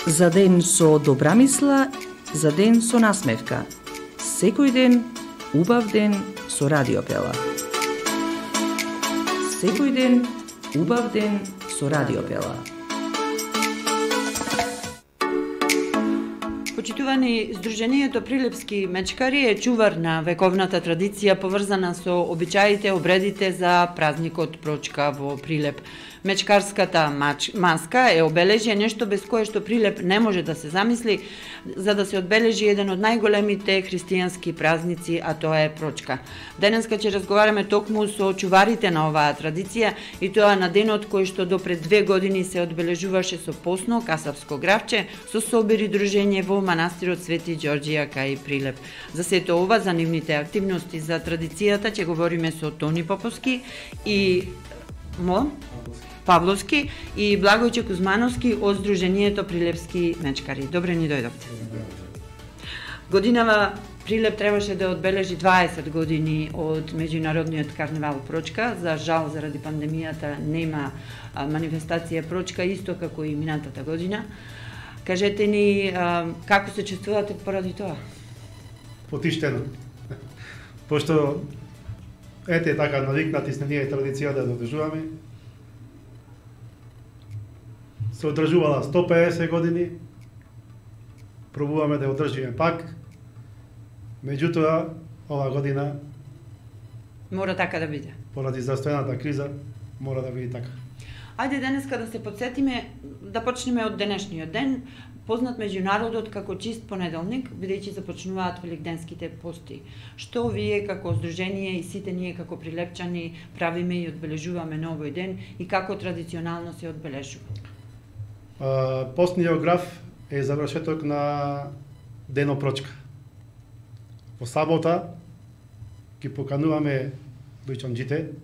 За ден со добра мисла, за ден со насмевка. Секој ден, убав ден со Радиопела. Секој ден, убав ден со Радиопела. Почитувани, Сдруженијето Прилепски мечкари е чувар на вековната традиција поврзана со обичаите, обредите за празникот Прочка во Прилеп. Мечкарската маска е обележје, нешто без кое што Прилеп не може да се замисли, за да се одбележи еден од најголемите христијански празници, а тоа е Прочка. Денеска ќе разговараме токму со чуварите на оваа традиција и тоа на денот кој што до пред 2 години се одбележуваше со посно касапско гравче, со собир и дружење во манастирот Свети Ѓорѓија кај Прилеп. За сето ова, за нивните активности, за традицијата, ќе говориме со Тони Поповски и Павловски и Благојче Кузмановски од Сдруженијето Прилепски мечкари. Добре ни дојдовте. Годинава Прилеп требаше да одбележи 20 години од меѓународниот карневал Прочка. За жал, заради пандемијата нема манифестација Прочка, исто како и минатата година. Кажете ни како се чувствувате поради тоа? Потиштено. Пошто ете така навикнати сме ние традиција да одржуваме. Се одржувала 150 години. Пробуваме да одржиме пак. Меѓутоа, ова година мора така да биде. Поради застојната криза мора да биде така. Ајде денеска да се подсетиме, да почнеме од денешниот ден, познат меѓу народот како чист понеделник, бидејќи започнуваат великденските пости. Што вие како здружение и сите ние како прилепчани правиме и одбележуваме на овој ден и како традиционално се одбележува? Постниот граф е завршеток на Дено Прочка. Во сабота ги покануваме дојчанџите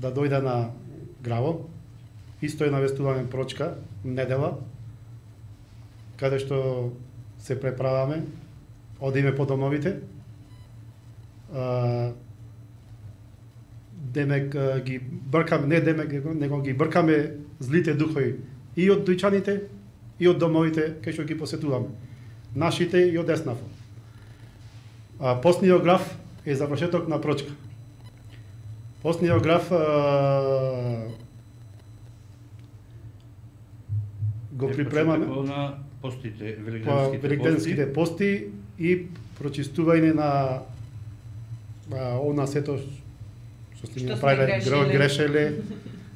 да дојде на граво. Исто е навестуваме Прочка, недела, каде што се преправаме, одиме по домовите. Демек ги бркаме, не демек, него ги бркаме злите духови и од дојчаните, и од домовите кај што ги посетуваме. Нашите и од Еснафо. Постниот граф е завршеток на Прочка. Постниот граф го припремаме на постите, великденските пости и прочистување на она сето што сте направиле грешеле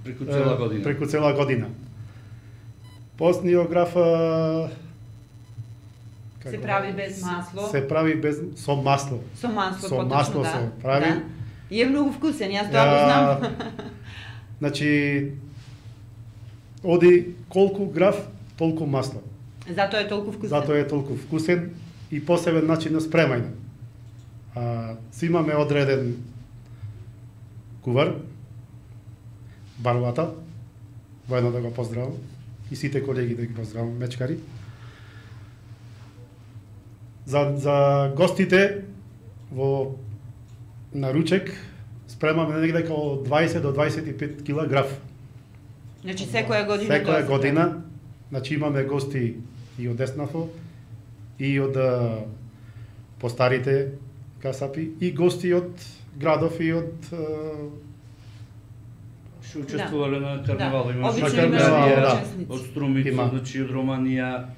преку цела година. Постниот граф се прави без масло. Се прави со масло. Со масло, со масло да. се прави. Да. И е многу вкусен, јас тоа го знам. Значи, оди колку граф, толку масло. Затоа е толку вкусен. Затоа е толку вкусен и посебен начин на спремање. Си имаме одреден кувар, Барбата, воедно да го поздравам, и сите колеги да ги поздравам, мечкари. За гостите во на ручек спремаме негде као 20 до 25 кила граф. Значи секоја година. Секоја година, значи имаме гости и од Еснафо, и од постарите касапи, и гости од градов и од што учествувале на карневал, имаше од Струмица, значи од Романија.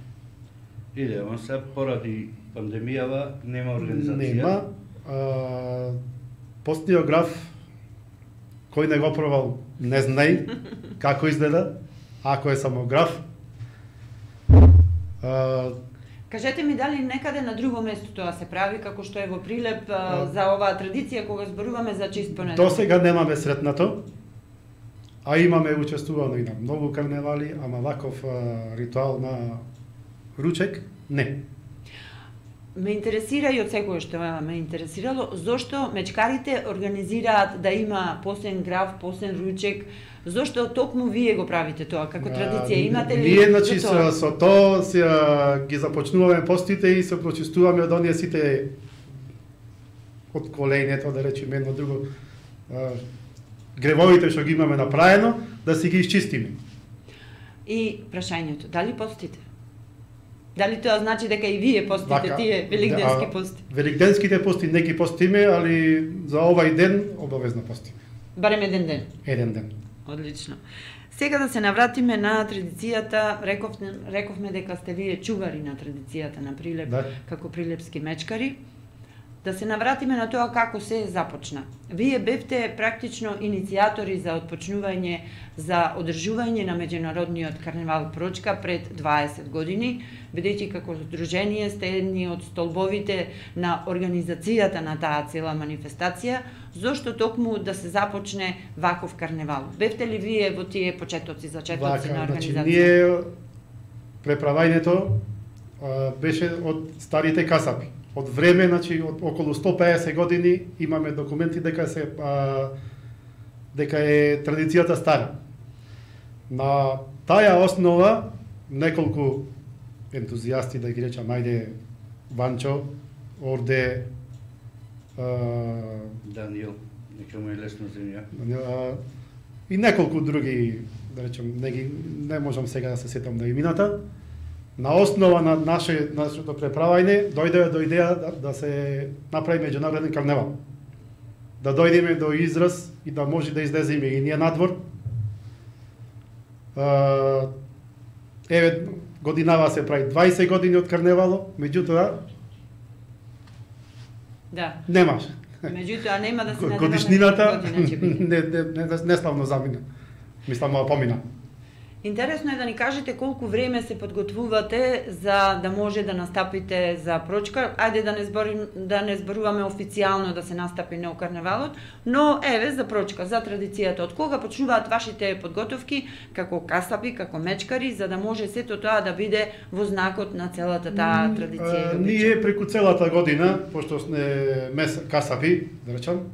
Ама се поради пандемијава нема организација. Нема. Постниот граф, кој не го пробал, не знај како изгледа, ако е само граф. Кажете ми дали некаде на друго место тоа се прави, како што е во Прилеп, за оваа традиција кога зборуваме за чист понеделник? До сега немаме сретнато, а имаме учествувано и на многу карневали, ама ваков ритуал на ручек, не. Ме интересира и од секој што ме интересирало, зошто мечкарите организираат да има посен граф, посен ручек, зошто токму вие го правите тоа, како традиција, имате ли? Ние, значи, со тоа ги започнуваме постите и се прочистуваме од оние сите од коленето, да речеме едно друго, гревовите што ги имаме направено, да си ги исчистиме. И прашањето, дали постите? Дали тоа значи дека и вие постите тие великденски пости? Великденските пости не ги постиме, али за овај ден обавезно постиме. Барем еден ден? Еден ден. Одлично. Сега да се навратиме на традицијата, рековме дека сте вие чувари на традицијата на Прилеп, како прилепски мечкари. Да се навратиме на тоа како се започна. Вие бевте практично иницијатори за отпочнување, за одржување на меѓународниот карневал Прочка пред 20 години, бидејќи како здружение сте едни од столбовите на организацијата на таа цела манифестација, зошто токму да се започне ваков карневал? Бевте ли вие во тие зачетоци на организација? Ние преправањето беше од старите касапи. Од време, од околу 150 години имаме документи дека е традицијата стара. На таа основа неколку ентузијасти, да ги речам, ајде Ванчо, Орде, Даниел, нека му е лесно земја. И неколку други, да речем, не можам сега да се сетам на имината. На основа на нашето преправање дојде до идеја да се направи меѓународен карневал. Да дојдеме до израз и да може да излеземе и ние надвор. Еве годинава се прави 20 години од карневало, меѓутоа немаш. Меѓутоа нема да се надеваме годишнината не славно замина. Мислам, помина. Интересно е да ни кажете колку време се подготвувате за да може да настапите за Прочка. Ајде да не зборуваме официјално да се настапи на карневалот, но еве за Прочка, за традицијата. Од кога почнуваат вашите подготовки како касапи, како мечкари, за да може сето тоа да биде во знакот на целата таа традиција? Ние преку целата година, пошто сме касапи, да речам,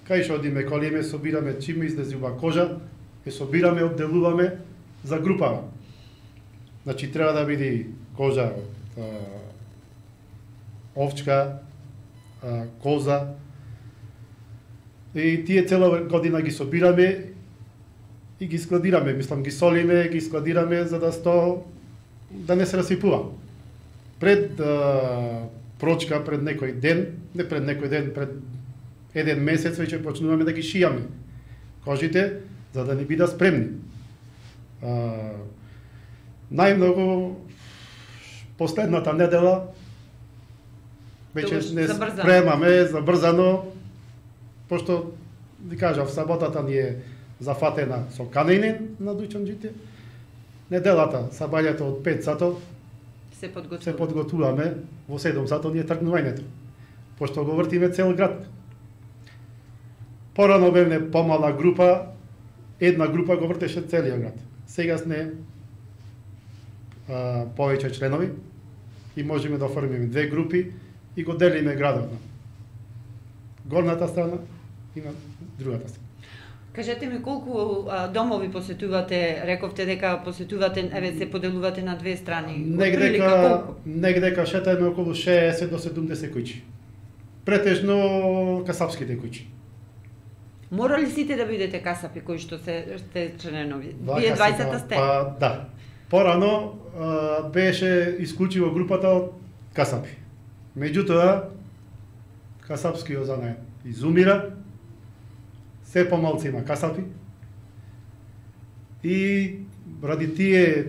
кај што одиме, колиме, собираме чим излезува кожа, ја собираме, одделуваме за групава. Значи, треба да биде кожа од овчка, коза. И тие цела година ги собираме и ги складираме. Мислам, ги солиме, ги складираме за да не се расипува. Пред Прочка, пред некој ден, не пред некој ден, пред еден месец веќе почнуваме да ги шијаме кожите, за да не бидат спремни. Најмногу последната недела веќе не спремаме забрзано, пошто ви кажав, саботата ни е зафатена со канење на дуќанџите. Неделата, сабањето од 5 сато се подготвуваме, во 7 сато ни е тргнувањето, пошто го вртиме цел град. Порано бевме помала група, една група го вртеше целиот град. Сега сме повеќе членови и можеме да оформиме 2 групи и го делиме градот на горната страна и на другата страна. Кажете ми колку домови посетувате, рековте дека посетувате, еве се поделувате на 2 страни. Негдека шетаме околу 60 до 70 куќи. Претежно касапските куќи. Мора ли сите да бидете касапи кои што сте членови? Вие 20-та сте? Да. Порано беше исклучиво групата од касапи. Меѓутоа, касапскиот занаед изумира, се помалци има касапи и ради тие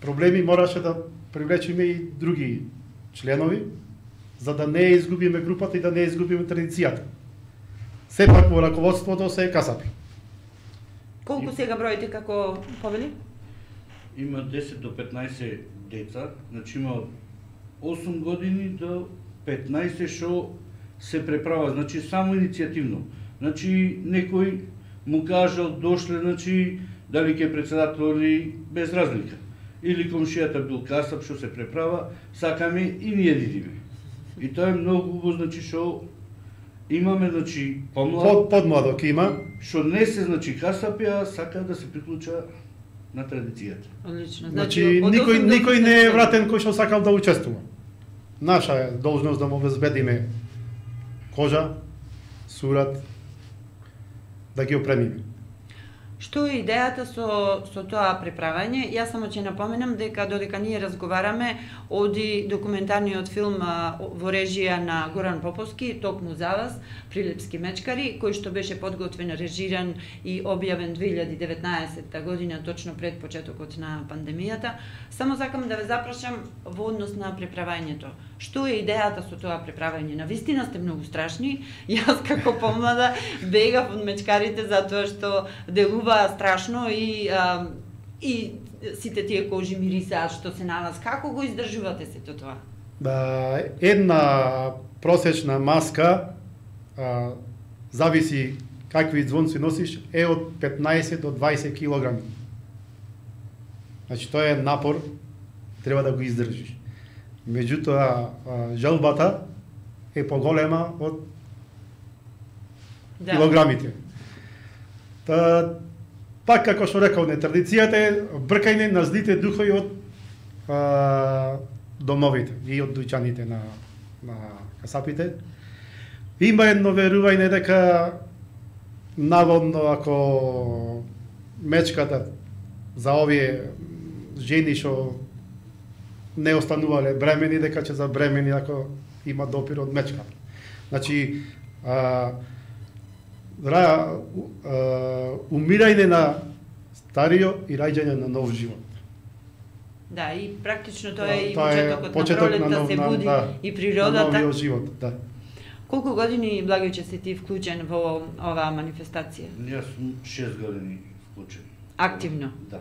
проблеми мораше да привлечеме и други членови, за да не изгубиме групата и да не изгубиме традицијата. Сепак во раководството се касапи. Колку сега броите како повели? Има 10 до 15 деца, значи има од 8 години до 15 што се преправа, значи само иницијативно. Значи некој му кажал, дошле, значи дали ќе председатели без разлика. Или комшијата бил касап што се преправа, сакаме и ние дидиме. И тоа е многу убаво, значи што имаме, значи, подмладок има, што не се, значи, касапи, а сака да се приклуча на традицијата. Одлично. Значи никој не е вратен кој што сакал да учествува. Наша е должност да му обезбедиме кожа, сурат, да ги опремиме. Што е идејата со тоа преправање? Јас само ќе напоменам дека додека ние разговараме, оди документарниот филм во режија на Горан Поповски, токму за вас, Прилепски мечкари, кој што беше подготвен, режиран и објавен 2019 година, точно пред почетокот на пандемијата. Само сакам да ве запрашам во однос на преправањето. Што е идејата со тоа преправање? Навистина сте многу страшни. Јас како помлада бегав од мечкарите затоа што делува страшно и сите тие кожи мирисаат што се на вас. Како го издржувате сето тоа? Да, една просечна маска, зависи какви звонци носиш, е од 15 до 20 килограми. Значи, тоа е напор, треба да го издржиш. Меѓутоа, желбата е поголема од килограмите. Пак, како што рекол, традицијата е бркање на злите духови од домовите и од дуќаните на касапите. Има едно верување дека наводно ако мечката за овие жени што не останувале бремени, дека ќе забремени ако има допир од мечката. Значи, умирање на старио и раѓање на нов живот. Да, и практично тоа е и почетокот на пролетта, се буди и природата. На новиот живот, да. Колку години, Благојче, си ти вклучен во оваа манифестација? Јас сум 6 години вклучен. Активно? Да.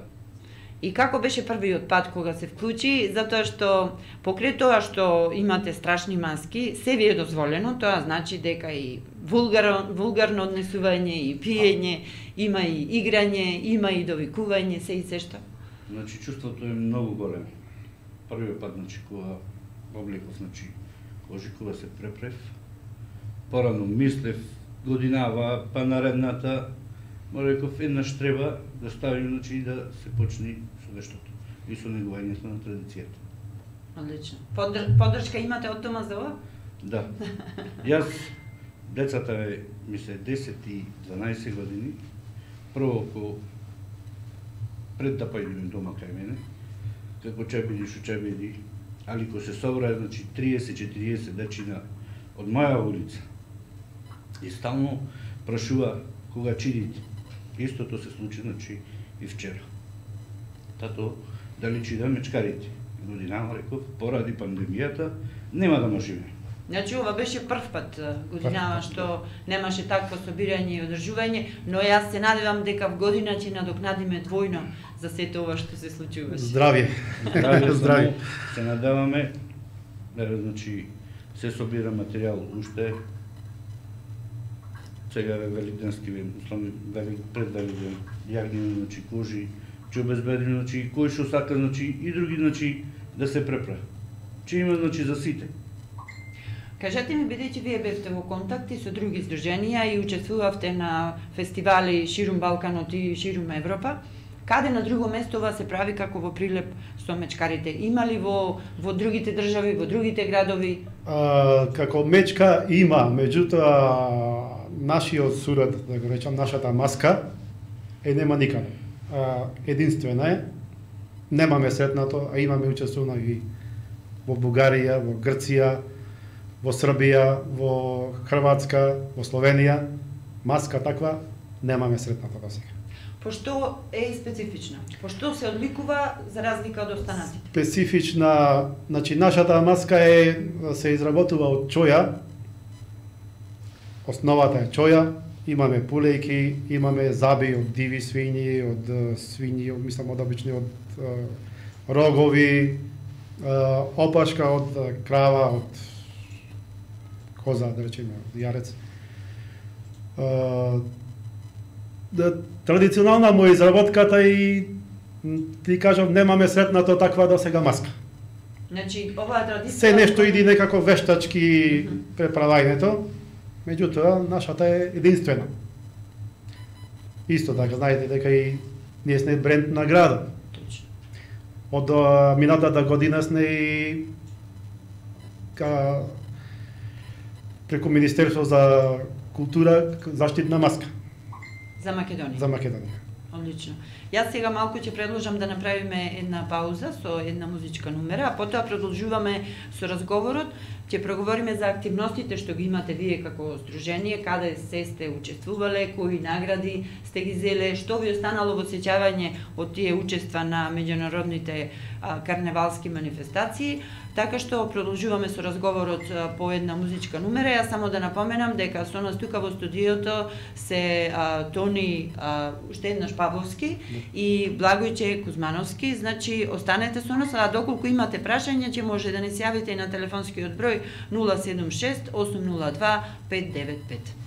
И како беше првиот пат кога се вклучи? Затоа што покрај тоа што имате страшни маски, се ви е дозволено, тоа значи дека и вулгарно однесување, и пиење, има и играње, има и довикување, се и се што. Значи, чувството е многу големо. Првиот пат, значи, кога облеков, значи, кожи, кога се препрев, порано мислев, годинава, па наредната, реков, еднаш треба да ставим, значи, да се почни со нештото и со негувањето на традицијата. Одлично. Поддршка имате од дома за ова? Да. Јас, децата ми се 10 и 12 години, прво пред да појдеме дома кај мене, како чебеди, шучебеди, али ко се собра, значи 30-40 дечина од моја улица, и стално прашува кога чидите. Истото се случи, значи, и вчера. Тато, дали чида мечкарите? Годинава, реков, поради пандемијата, нема да можеме. Значи, ова беше прв пат годинава што немаше такво собирање и одржување, но јас се надевам дека в година ќе надокнадиме двојно за сето ова што се случуваше. Здравје. Здравје. Се надеваме, значи, се собира материјал уште, сега е великденски предвеликден, јагнени, значи, кожи, ќе обезбедиме, значи, кој што сака, значи, и други, значи, да се препра. Че има, значи, за сите. Кажете ми, бидејќи вие бевте во контакти со други здруженија и учествувавте на фестивали ширум Балканот и ширум Европа, каде на друго место ова се прави како во Прилеп со мечкарите? Има ли во другите држави, во другите градови? Како мечка има, меѓутоа нашиот сурет, да го речам, нашата маска нема никаде. Единствена е, немаме сретнато, а имаме учествувано и во Бугарија, во Грција, во Србија, во Хрватска, во Словенија, маска таква немаме сретната до сега. Пошто е специфична? Пошто се одликува за разлика од останатите? Специфична, значи нашата маска се изработува од чоја. Основата е чоја, имаме пулејки, имаме заби од диви свињи, од свињи, мислам од обични, од рогови, опашка од крава, од коза, да речеме, јарец. Традиционална му изработката и ти кажам, немаме сретнато таква до сега маска. Значи, оваа традиција... Се нешто иди некако вештачки преправањето, меѓутоа нашата е единствена. Исто така, знаете дека и ние сме бренд на градот. Од минатата година сме и преку Министерство за култура заштитна маска. За Македонија. За Македонија. Одлично. Јас сега малку ќе предложам да направиме една пауза со една музичка номера, а потоа продолжуваме со разговорот. Ќе проговориме за активностите што ги имате вие како здружение, каде се сте учествувале, кои награди сте ги зеле, што ви останало во сеќавање од тие учества на меѓународните карневалски манифестации. Така што продолжуваме со разговорот по една музичка номера. Јас само да напоменам дека со нас тука во студиото се Тони уште еднаш Павловски и Благојче Кузмановски. Значи, останете со нас, а доколку имате прашања, ќе може да не се јавите и на телефонскиот број 076 802 595.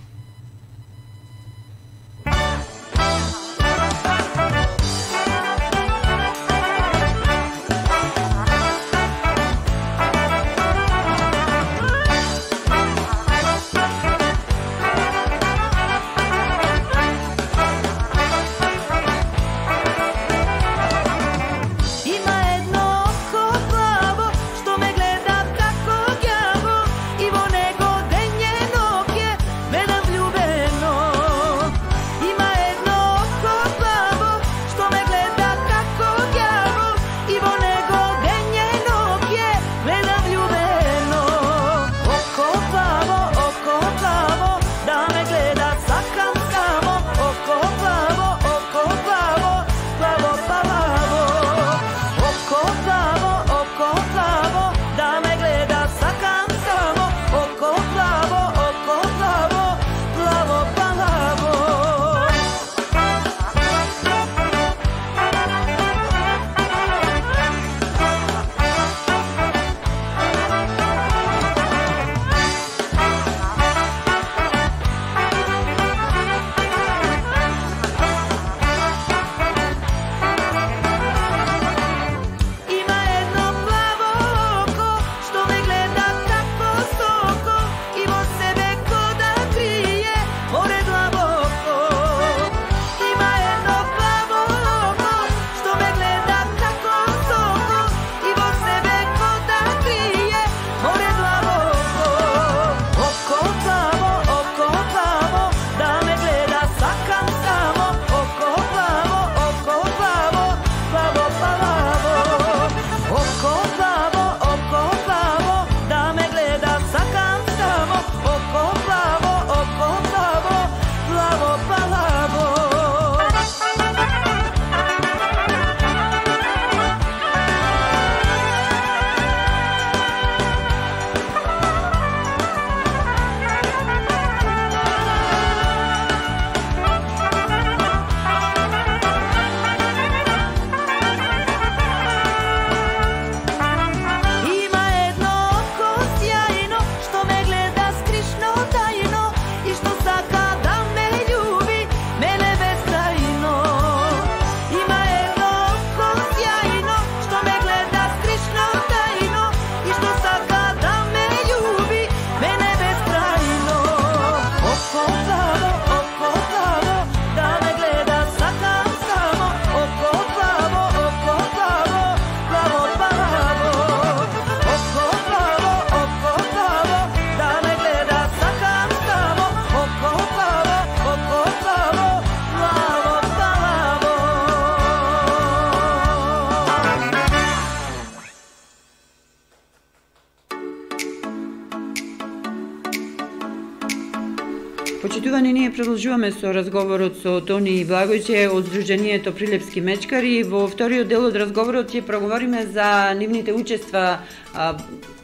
Почитувани, ние продолжуваме со разговорот со Тони и Благојче од Сдруженијето Прилепски мечкари. Во вториот дел од разговорот ќе проговориме за нивните учества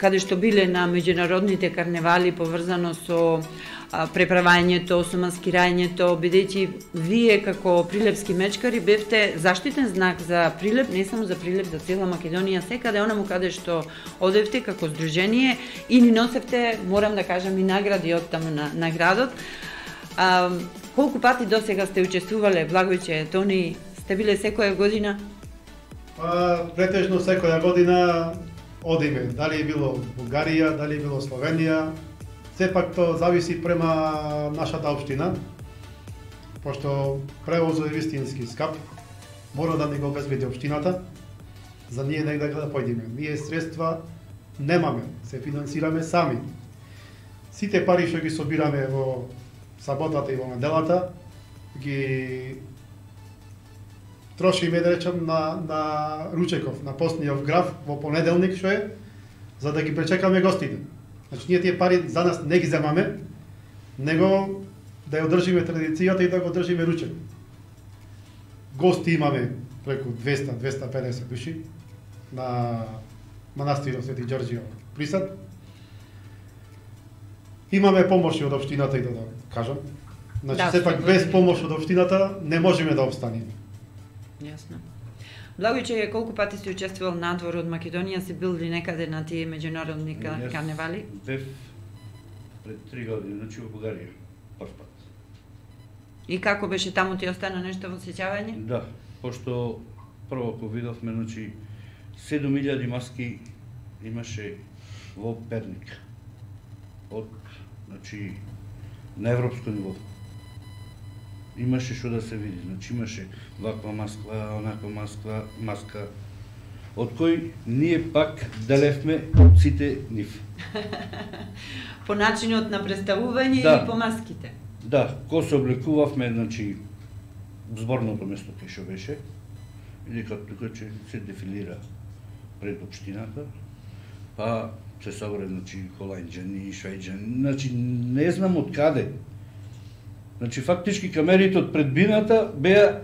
каде што биле на меѓународните карневали поврзано со преправањето, со маскирањето, бидејќи вие како прилепски мечкари бевте заштитен знак за Прилеп, не само за Прилеп, за цела Македонија, секаде онаму каде што одевте како здружение и ни носевте, морам да кажам, и награди од таму на градот. Колку пати до сега сте учествувале, Благојче, Тони, сте биле секоја година? Претежно секоја година одиме, дали е било Бугарија, дали е било Словенија. Сепак тоа зависи према нашата општина, пошто превозот е вистински скап, мора да ни го обезбеди општината, за ние негде да појдеме. Ние средства немаме, се финансираме сами. Сите пари што ги собираме во саботата и во неделата, ги трошиме, да речам, на ручеков, на постниот граф во понеделник, што е, за да ги пречекаме гостите. Значи, ние тие пари за нас не ги земаме, него да ја одржиме традицијата и да го држиме ручек. Гости имаме преку 200-250 души на манастирот Свети Ѓорѓио Присад. Имаме помоши од општината и да кажам. Значи, сепак без помош од општината не можеме да обстанеме. Јасно. Благојче, колку пати си учествувал надвор од Македонија, си бил ли некаде на тие меѓународни карневали? Бев пред 3 години, значи во Бугарија, прв пат. И како беше таму, ти остана нешто во сеќавање? Да, пошто прво кога видовме, значи 7000 маски имаше во Перник. Од, значи, на европско ниво. Имаше што да се види, значи имаше ваква маска, онаква маска, од кој ние пак делевме сите нив. По начинот на представување или по маските? Да, ко се облекувавме, значи, зборното место кај што беше, или како тука че се дефилира пред општината, па се собре, значи, холанџани, швајџани, значи, не знам од каде. Значи, фактички камерите од предбината беа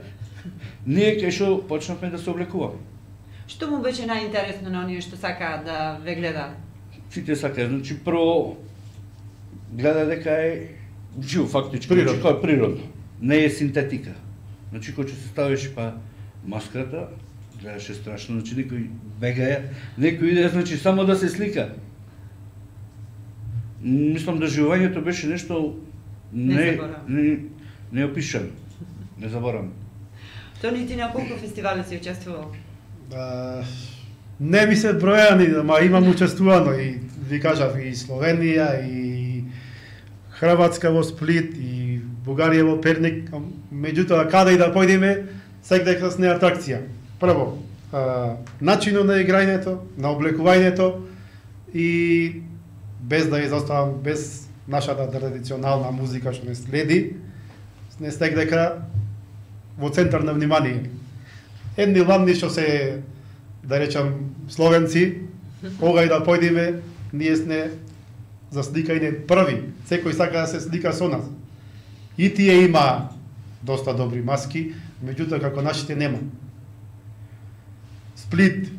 ние кај што почнавме да се облекуваме. Што му беше најинтересно на оние што сакаат да ве гледаат? Сите сакаат, значи, прво гледа дека е живо фактички, природно. Значи, кој е природно, не е синтетика. Значи, кој ќе се ставиш па маската, гледаше страшно, значи некој бегаја, некој иде, значи само да се слика. Мислам да живењето беше нешто неопишано, не заборам. Тони, ти на колку фестивали си учествувал? Не ми се бројани, ама имам учествувано и ви кажав и Словенија и Хрватска во Сплит и Бугарија во Перник, меѓутоа каде и да појдеме, секаде с неа атракција. Прво, начинот на играњето, на облекувањето и без да изоставам, без нашата традиционална музика што не следи, не стек дека во центар на внимание. Едни ладни што се, да речам, словенци, кога и да појдеме, ние сме засликајни први. Секој сака да се слика со нас. И тие има доста добри маски, меѓутоа како нашите нема. Сплит,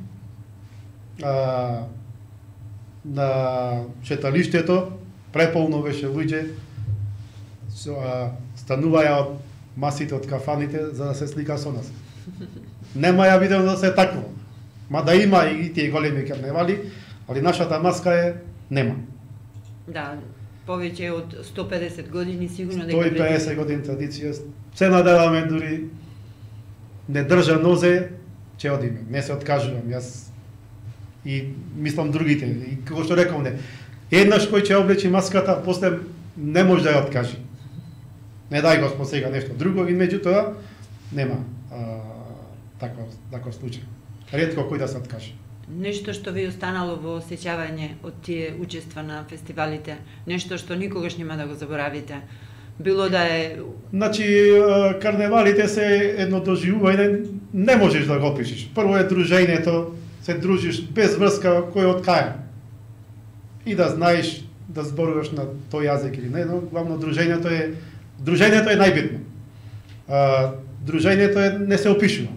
на шеталиштето, преполно беше луѓе, стануваја од масите од кафаните за да се слика со нас. Нема ја видел да се такво. Ма да има и тие големи карневали, али нашата маска е нема. Да, повеќе од 150 години сигурно дека 150 години традиција. Се надеваме дури не држа нозе, ќе одиме. Не се откажувам јас и мислам другите. И како што реков не, еднаш кој ќе облечи маската, после не може да ја откаже. Не дај Господ сега нешто друго, и меѓутоа нема таков случај. Ретко кој да се откаже. Нешто што ви останало во сеќавање од тие учества на фестивалите, нешто што никогаш нема да го заборавите. Било да е... Значи, карневалите се едно доживување, не можеш да го опишеш. Прво е дружењето, се дружиш без врска кој од кај. И да знаеш да зборуваш на тој јазик или не, но главно дружењето е најбитно. Дружењето не се опишува.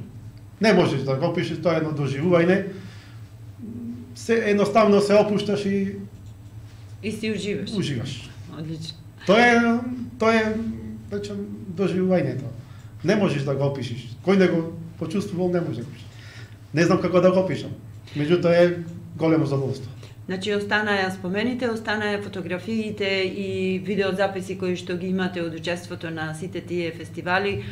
Не можеш да го опишеш, тоа е едно доживување. Едноставно се опушташ и си уживаш. Уживаш. Одлично. Тоа е речем доживувањето. Не можеш да го опишеш. Кој не го почувствувал, не може да го опишеш. Не знам како да го опишам. Меѓутоа е големо задоволство. Значи останаа спомените, останаа фотографиите и видеозаписи кои што ги имате од учеството на сите тие фестивали.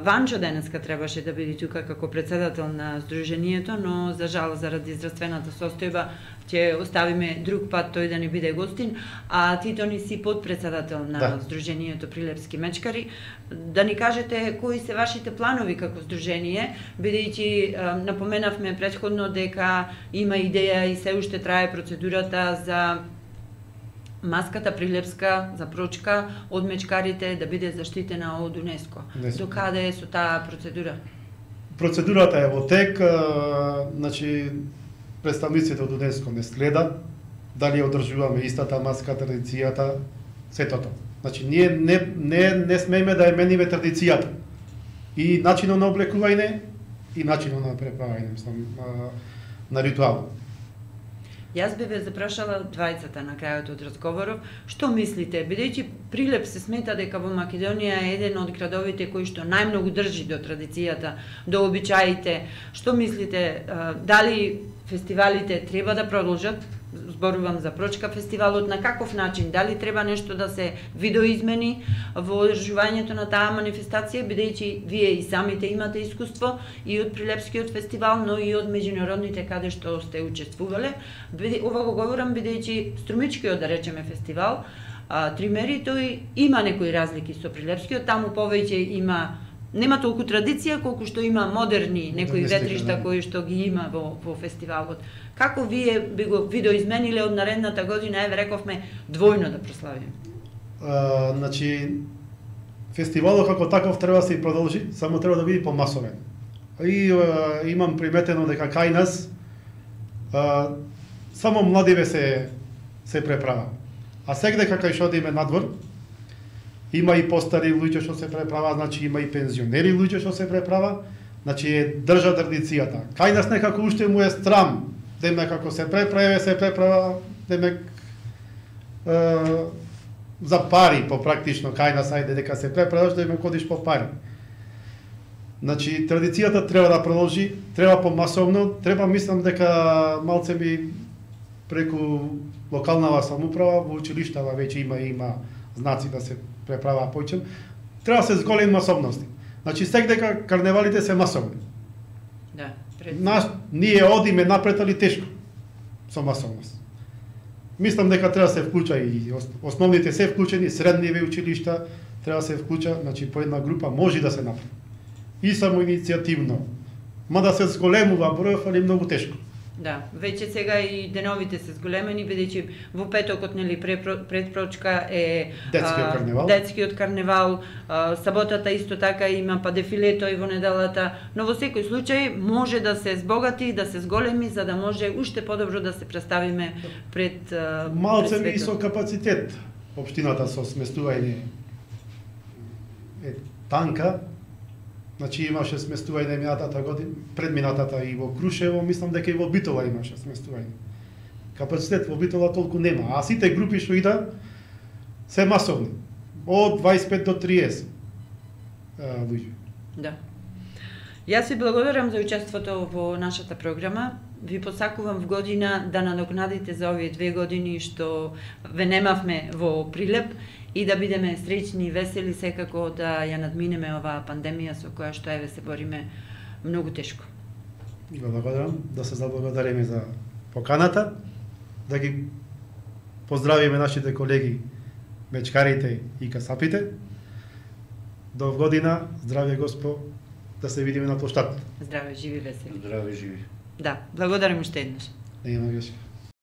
Ванчо денеска требаше да биде тука како председател на Сдруженијето, но за жал заради здравствената состојба ќе оставиме друг пат тој да ни биде гостин, а ти Тони си подпредседател на Сдруженијето Прилепски мечкари. Да ни кажете кои се вашите планови како Сдружение, бидејќи напоменавме претходно дека има идеја и се уште трае процедурата за маската прилепска за прочка од мечкарите да биде заштитена од УНЕСКО. До каде е со таа процедура? Процедурата е во тек, значи представниците од УНЕСКО не следат дали одржуваме истата маска традицијата, сето тоа. Значи ние не смееме да ја мениме традицијата и начинот на облекување и начинот на преправање, мислам, на ритуал. Јас би ве запрашала двајцата на крајот од разговоров, што мислите, бидејќи Прилеп се смета дека во Македонија е еден од градовите кои што најмногу држи до традицијата, до обичаите, што мислите, дали фестивалите треба да продолжат? Зборувам за Прочка фестивалот, на каков начин, дали треба нешто да се видоизмени во одржувањето на таа манифестација, бидејќи вие и самите имате искуство и од Прилепскиот фестивал, но и од меѓународните каде што сте учествувале. Ова го говорам бидејќи Струмичкиот, да речеме, фестивал, Тримери, тој има некои разлики со Прилепскиот, таму повеќе нема толку традиција колку што има модерни некои ветришта кои што ги има во фестивалот. Како вие би го видоизмениле од наредната година, еве рековме, двојно да прославиме? Значи, фестивалот како таков треба да се продолжи, само треба да биде помасовен. И имам приметено дека кај нас само младиве се преправа. А секаде кај што одиме надвор, има и постари луѓе што се преправа, значи има и пензионери луѓе што се преправа, значи држа традицијата. Кај нас некако уште му е страм, демек како се преправа, демек за пари попрактично кај нас, ајде дека се преправаш, демек одиш по пари. Значи традицијата треба да продолжи, треба помасовно, треба, мислам дека малце би преку локалнава самоуправа, во училиштава веќе има знаци да се преправа појчем, треба да се зголеми масовности. Значи секаде карневалите се масовни. Да, ние одиме напред, али тешко со масовност. Мислам дека треба да се вклуча и основните се вклучени, средниве училишта треба да се вклуча, значи по една група може да се направи. И само иницијативно. Мада се зголемува бројов, али многу тешко. Да, веќе сега и деновите се зголемени, бидејќи во петокот, нели, пред Прочка е детскиот карневал, саботата исто така има па дефилето и во неделата, но во секој случај може да се збогати, да се зголеми, за да може уште подобро да се представиме пред малце и со капацитет. Општината со сместување е танка. Значи имаше сместување минатата година, предминатата и во Крушево, мислам дека и во Битола имаше сместување. Капацитет во Битола толку нема, а сите групи што идат се масовни, од 25 до 30 луѓе. Да. Јас ви благодарам за учеството во нашата програма. Ви посакувам в година да надокнадите за овие 2 години што ве немавме во Прилеп и да бидеме среќни и весели, секако да ја надминеме оваа пандемија со која што еве се бориме многу тешко. Благодарам, да се заблагодариме за поканата, да ги поздравиме нашите колеги мечкарите и касапите. До година, здравје Госпо, да се видиме на плоштад. Здраве, живи, весели. Здраве, живи. Да, благодарам уште еднаш. Да има грешка.